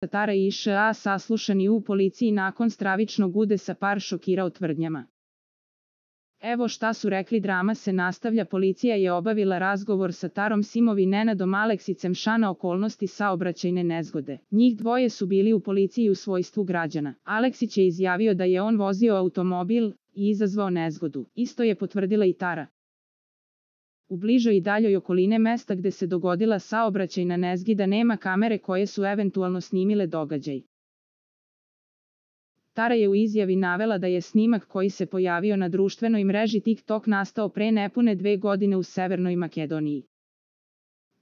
Tara i Š.A. saslušani u policiji nakon stravičnog udesa, par šokirao tvrdnjama. Evo šta su rekli, drama se nastavlja. Policija je obavila razgovor sa Tarom Simov i Nenadom Aleksicem Š na okolnosti saobraćajne nezgode. Njih dvoje su bili u policiji u svojstvu građana. Aleksić je izjavio da je on vozio automobil i izazvao nezgodu. Isto je potvrdila i Tara. U bližoj i daljoj okoline mesta gde se dogodila saobraćajna nezgoda nema kamere koje su eventualno snimile događaj. Tara je u izjavi navela da je snimak koji se pojavio na društvenoj mreži TikTok nastao pre nepune 2 godine u Severnoj Makedoniji.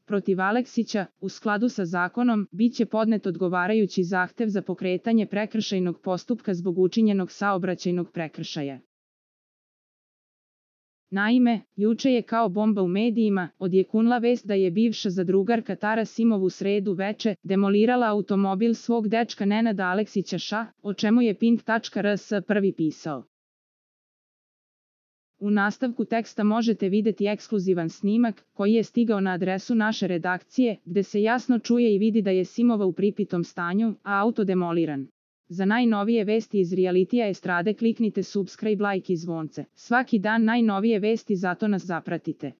Protiv Aleksića, u skladu sa zakonom, biće podnet odgovarajući zahtev za pokretanje prekršajnog postupka zbog učinjenog saobraćajnog prekršaja. Naime, juče je kao bomba u medijima odjeknula vest da je bivša zadrugarka Tara Simov u sredu veče demolirala automobil svog dečka Nenada Aleksića Š, o čemu je Pink.rs prvi pisao. U nastavku teksta možete videti ekskluzivan snimak koji je stigao na adresu naše redakcije, gde se jasno čuje i vidi da je Simova u pripitom stanju, a auto demoliran. Za najnovije vesti iz realitija estrade kliknite subscribe, like i zvonce. Svaki dan najnovije vesti, zato nas zapratite.